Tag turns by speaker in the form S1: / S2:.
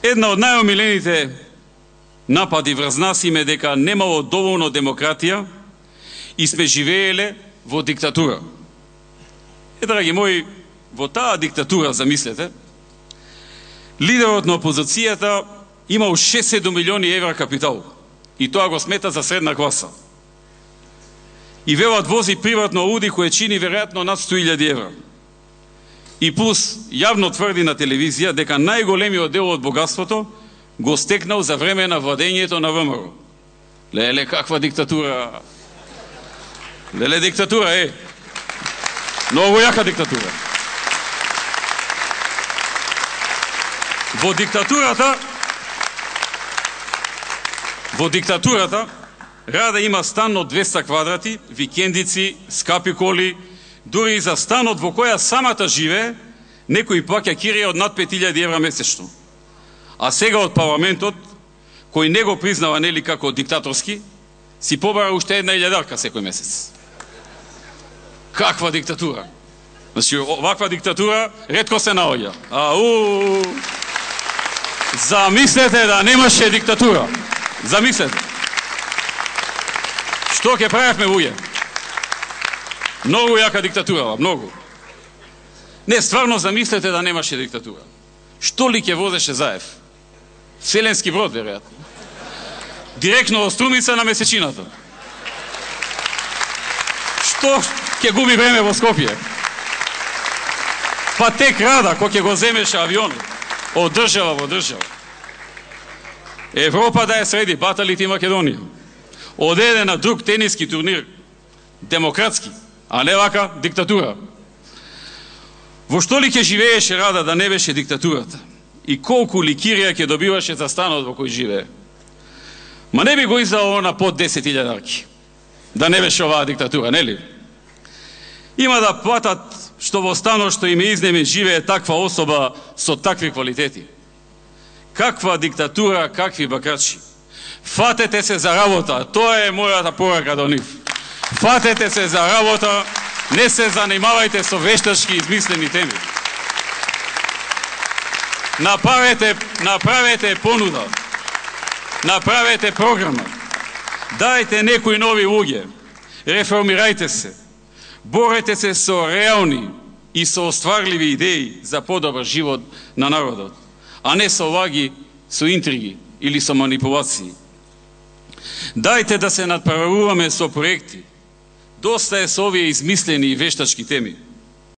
S1: Една од најомилените напади врз нас им е дека немало доволно демократија и сме живееле во диктатура. Драги мои, во таа диктатура, замислете, лидерот на опозицијата имал 6-7 милиони евра капитал и тоа го смета за средна класа. И велат вози приватно ауди кое чини веројатно над 100.000 евра. И плюс јавно тврди на телевизија дека најголемиот дел од богатството го стекнал за време на владењето на ВМРО. Леле, каква диктатура! Леле, диктатура е! Многу јака диктатура. Во диктатурата Рада има стан од 200 квадрати, викендици, скапи коли, дури и за станот во која самата живее, некој плаќа кирија од над 5.000 евра месечно. А сега од парламентот, кој не го признава нели како диктаторски, си побара уште 1.000 секој месец. Каква диктатура! Значи, оваква диктатура ретко се наоѓа. Замислете да немаше диктатура. Замислете. Што ќе правевме, луѓе? Многу јака диктатура, многу. Не, стварно замислете да немаше диктатура. Што ли ќе возеше Заев? Вселенски брод, веројатно. Директно од Струмица на месечината. Што ќе губи време во Скопје? Па тек Рада, кој ќе го земеше авионот од држава во држава. Европа да ја среди, баталите и Македонија. Одеде на друг тениски турнир, демократски, а не вака диктатура. Во што ли ќе живееше Рада да не беше диктатурата? И колку ликирија ќе добиваше за станот во кој живее? Ма не би го издало на под 10.000 да не беше оваа диктатура, нели? Има да платат што во станот што им е изнемен живее таква особа со такви квалитети. Каква диктатура, какви бакачи. Фатете се за работа, тоа е мојата порака до нив. Фатете се за работа, не се занимавајте со вештачки измислени теми. Направете понуда, направете програма, дајте некои нови луѓе, реформирајте се, борете се со реални и со остварливи идеи за подобар живот на народот, а не со лаги, со интриги или со манипулации. Дајте да се надправуваме со проекти. Доста е со овие измислени и вештачки теми.